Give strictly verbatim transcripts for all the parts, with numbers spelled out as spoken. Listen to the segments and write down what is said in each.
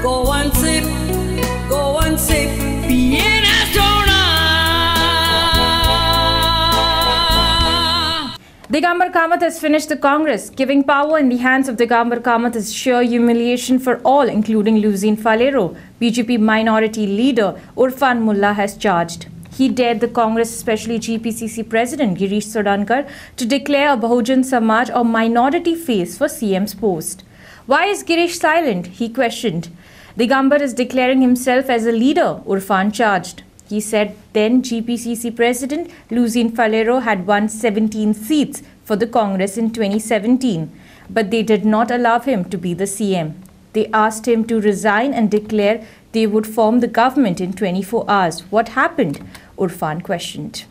Go and sip, go and sip, पियेना soda. Digambar Kamat has finished the Congress. Giving power in the hands of Digambar Kamat is sheer humiliation for all, including Luizinho Faleiro. B J P minority leader Urfan Mulla has charged. He dared the Congress, especially G P C C President Girish Chodankar, to declare a Bahujan Samaj or minority face for C M's post. Why is Girish silent? He questioned. Digambar is declaring himself as a leader, Urfan charged. He said then G P C C President Luizinho Faleiro had won seventeen seats for the Congress in twenty seventeen, but they did not allow him to be the C M. They asked him to resign and declare they would form the government in twenty-four hours. What happened? Urfan questioned.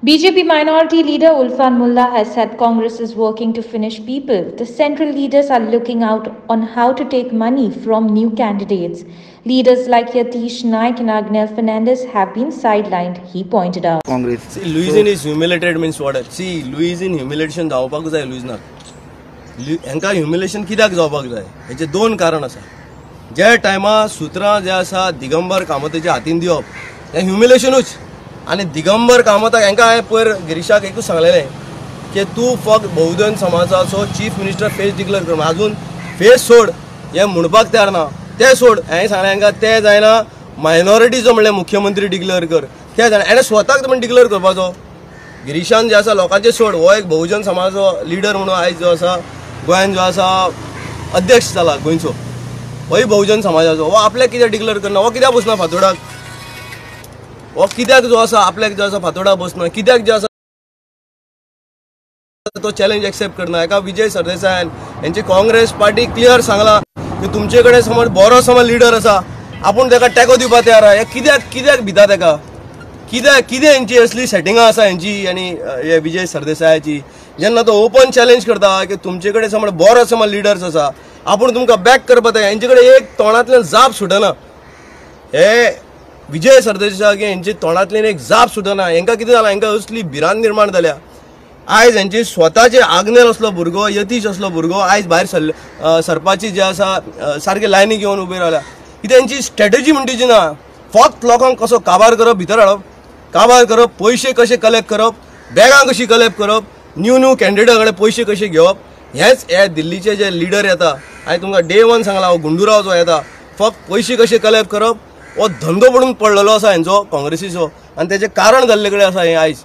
B J P minority leader Urfan Mulla has said Congress is working to finish people. The central leaders are looking out on how to take money from new candidates. Leaders like Yatish Naik and Agnel Fernandez have been sidelined, he pointed out. Congress. See, Luizinho is humiliated means what? See, Luizinho humiliation जावपाक जाय लुइझनाक. हेंका humiliation कित्याक जावपाक जाय? हेचे दोन कारण आसा. ज्या टायमा सुत्रां जे आसा दिगंबर कामताच्या हातीन दिवप हें ह्युमिलेशनूच. आनी दिगंबर कामताक हेंकां हांवें पयर गिरीशाक एकूच सांगलेलें की तूं फक्त बहुजन समाजाचो चीफ मिनिस्टर फेस डिक्लेअर कर, आजून फेस सोड हें म्हणपाक तयार ना. तें सोड, हांवें सांगलें हेंकां तें जायना, मायनॉरिटीचो म्हणल्यार मुख्यमंत्री डिक्लेअर कर, तें जायना. हेणें स्वताक म्हण डिक्लेअर करपाचो. गिरीशान जे आसा लोकांचें सोड, हो एक बहुजन समाजाचो लिडर म्हणून आयज जो आसा गोंयान जो आसा अध्यक्ष जाला गोंयचो, होय बहुजन समाजाचो. हो आपल्याक कित्याक डिक्लेअर करना? हो कित्याक बसना फातोडाक? हो कित्याक जो आसा आपल्याक जो आसा फातोडा बसना? कित्याक जो आसा तो चॅलेंज एक्सेप्ट करना? एका विजय सरदेसायान हेंची काँग्रेस पार्टी क्लियर सांगला की तुमचे कडेन समज बरो समज लिडर आसा, आपूण ताका टेको दिवपाक तयार आहा. हे कित्याक कित्याक भिता ताका? कित्याक कितें हेंची असली सेटिंगां आसा हेंची आनी हे विजय सरदेसायाची? जेन्ना तो ओपन चॅलेंज करता की तुमचे कडेन समज बरो समज लिडर्स आसा, आपूण तुमकां बॅक करपाक तयार, हेंचे कडेन एक तोंडांतल्यान जाप सुटना. हे विजय सरदेसाय हेंचे तोंडांतल्यान एक जाप सुटना. हेंकां कितें जालां? हेंकां असली भिरांत निर्माण जाल्या. आयज हेंचे स्वताचे आग्नेल असलो भुरगो, यतीश असलो भुरगो आयज भायर सरले सरपाची जे आसा सारके लायनी घेवन उबे रावल्या. कितें हेंची स्ट्रेटजी म्हणटी ना, फक्त लोकांक कसो काबार करप, भितर हाडप, काबार करप, पयशे कशे कलेक्ट करप, बॅगां कशी कलेक्ट करप, न्यू न्यू कॅन्डिडेटा कडेन पयशे कशे घेवप. हेच हे दिल्लीचे जे लिडर येता, हांवें तुमकां डे वन सांगलां, हो गुंडुराव जो येता फक्त पयशे कशे कलेक्ट करप हो धंदो पडून पडलेलो आसा हेंचो काँग्रेसीचो. आनी तेचें कारण जाल्ले कडेन आसा हें आयज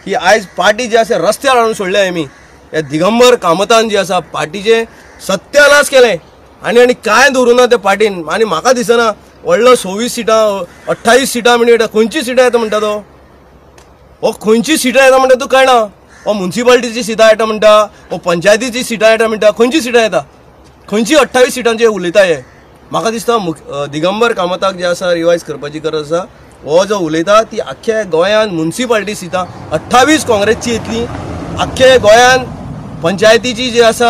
की आयज पार्टी जी आसा रस्त्यार हाडून सोडल्या आमी. ह्या दिगंबर कामतान जी आसा पार्टीचें सत्यानाश केलें आनी आनी कांय दवरूं ना त्या पार्टीन. आनी म्हाका दिसना व्हडलो सव्वीस सिटां अठ्ठावीस सिटां म्हणजे खंयची सिटां येता म्हणटा तो, हो खंयची सिटां येता म्हणटा तूं कळना. हो मुन्सिपाल्टीची सिटां येता म्हणटा, हो पंचायतीची सिटां येता म्हणटा, खंयची सिटां येता? खंयची अठ्ठावीस सिटांचे उलयता हे? म्हाका दिसता दिगंबर कामताक जे आसा रिवायज करपाची गरज आसा. हो जो उलयता ती आख्ख्या गोंयान मुन्सिपाल्टी सिटां अठ्ठावीस काँग्रेसची येतली, आख्ख्या गोंयान पंचायतीची जी आसा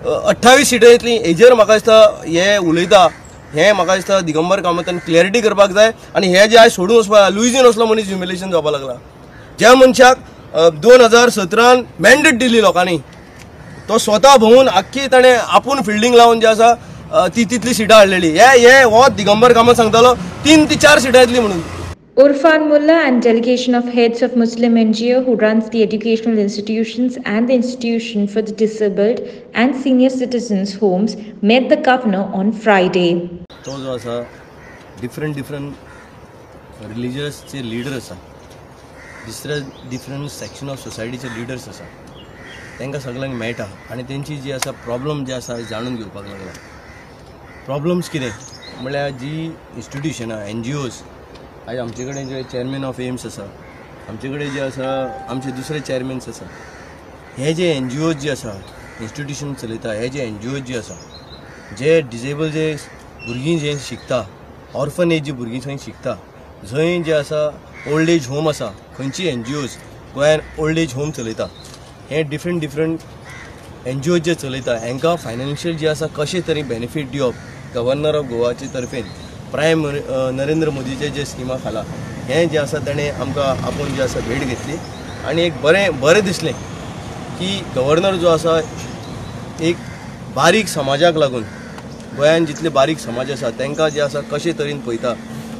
अठ्ठावीस सिटां येतली. हेजेर म्हाका दिसता हे उलयता हें म्हाका दिसता दिगंबर कामतान क्लॅरिटी करपाक जाय. आनी हे जे आयज सोडून वचपाक लुइझीन असलो मनीस ह्युमिलेशन जावपाक लागला. ज्या मनशाक दोन हजार सतरान मॅन्डेट दिली लोकांनी, तो स्वता भोंवून आख्खी ताणें आपूण फिल्डींग लावन जे आसा ती तितली सिटां हाडलेली. हे हे हो दिगंबर कामत सांगतालो तीन ती चार सिटां येतली म्हणून. Urfan Mulla and delegation of heads of Muslim N G O who runs the educational institutions and the institution for the disabled and senior citizens homes met the governor on Friday. तो जो आसा different different रिलीजियसचे leader आसा, दुसरे different section of सोसायटीचे leaders आसा, तांकां सगळ्यांक मेळटा आनी तेंची जी आसा प्रॉब्लम जे आसा जाणून घेवपाक लागला. प्रॉब्लम्स कितें म्हळ्यार जी इन्स्टिट्युशनां एन जी ओज आयज आमचे कडेन जे चेअरमॅन ऑफ एम्स आसा, आमचे कडेन जे आसा आमचे दुसरे चेअरमॅन्स आसा, हे जे एन जी ओज जे आसा इन्स्टिट्युशन चलयता, हे जे एन जी ओज जे आसा जे डिजेबल जे भुरगीं जे शिकता, ऑर्फनेज जी भुरगीं थंय शिकता, जंय जे आसा ओल्ड एज होम आसा, खंयची एन जी ओज गोंयान ओल्ड एज होम चलयता, हे डिफरंट डिफरंट एन जी ओज जे चलयता हांकां फायनान्शियल जे आसा कशें तरी बेनिफीट दिवप गव्हर्नर ऑफ गोवाचे तर्फेन प्रायम नरेंद्र मोदीचे जे स्किमा खाला हें जें आसा ताणें आमकां आपूण जें आसा भेट घेतली आनी एक बरें बरें दिसलें की गव्हर्नर जो आसा एक बारीक समाजाक लागून गोंयान जितले बारीक समाज आसा तांकां जे आसा कशे तरेन पळयता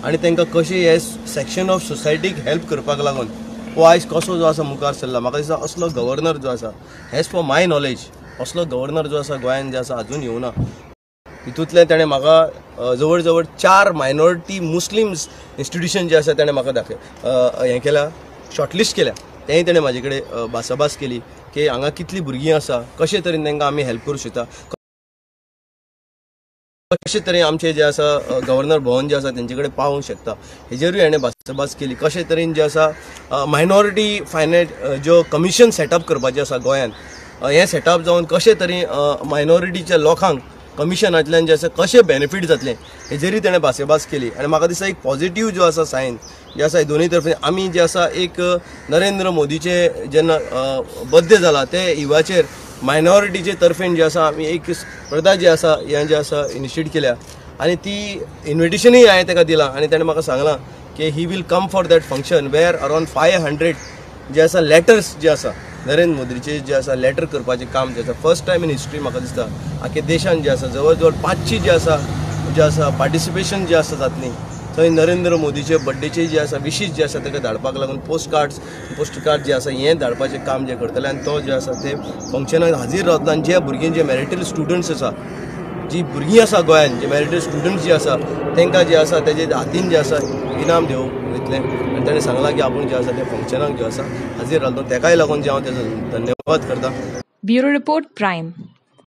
आनी तांकां कशें हे सेक्शन ऑफ सोसायटीक हेल्प करपाक लागून हो आयज कसो जो आसा मुखार सरला. म्हाका दिसता असलो गव्हर्नर जो आसा, एज फॉर my knowledge, असलो गव्हर्नर जो आसा गोंयान जे आसा अजून येवना. हितूंतल्यान ताणें म्हाका जवळ जवळ चार मायनॉरिटी मुस्लिम्स इन्स्टिट्युशन जे आसा ताणें म्हाका दाखय हें केलां, शॉर्टलिस्ट केल्या. तेंय ताणें म्हाजे कडेन भासाभास केली की हांगा कितलीं भुरगीं आसा, कशे तरेन तांकां आमी हेल्प करूं शकता, कशे तरेन आमचे जे आसा गव्हर्नर भवन जे आसा तेंचे कडेन पावोवंक शकता, हेजेरूय हाणें भासाभास केली. कशे तरेन जे आसा मायनॉरिटी फायनान्स ज्यो कमिशन सेटअप करपाचें आसा गोंयांत, हें सेटअप जावन कशे तरेन मायनॉरिटीच्या लोकांक कमिशनांतल्यान जे आसा कशें बेनिफीट जातलें हेजेरूय ताणें भासाभास केली. आनी म्हाका दिसता एक पॉझिटीव जो आसा सायन जे आसा दोनूय तर्फे आमी जे आसा एक नरेंद्र मोदीचे जेन्ना बर्थडे जाला ते इवाचेर मायनॉरिटीचे तर्फेन जे आसा आमी एक स्पर्धा जी आसा हें जे आसा इनिशिएट केल्या आनी ती इन्विटेशनूय हांवें ताका दिलां आनी ताणें म्हाका सांगलां की he will come for that function where around five hundred जे आसा लेटर्स जे आसा नरेंद्र मोदीचे जे आसा लेटर करपाचें काम जे आसा फर्स्ट टायम इन हिस्ट्री म्हाका दिसता आख्या देशान जे आसा जवळ जवळ पांचशी जे आसा जे आसा पार्टिसिपेशन जे आसा जातली थंय नरेंद्र मोदीचे बड्डेचे जे आसा विशीस जे आसा ताका धाडपाक लागून पोस्ट कार्ड्स पोस्ट कार्ड जे आसा हें धाडपाचें काम जें करतलें आनी तो जे आसा ते फंक्शनाक हाजीर रावतलो. आनी जे भुरगीं जे मेरिटेड स्टुडंट्स आसा, जी भुरगीं आसा गोंयान जे मेरिटेड स्टुडंट्स जे आसा तांकां जे आसा तेजे हातीन जे आसा इनाम दिवंक वयतलें. आनी ताणें सांगलां की आपूण जे आसा ते फंक्शनाक जे आसा हाजीर रावतलो, ताकाय लागून जे हांव तेजो धन्यवाद करता. Bureau report, prime.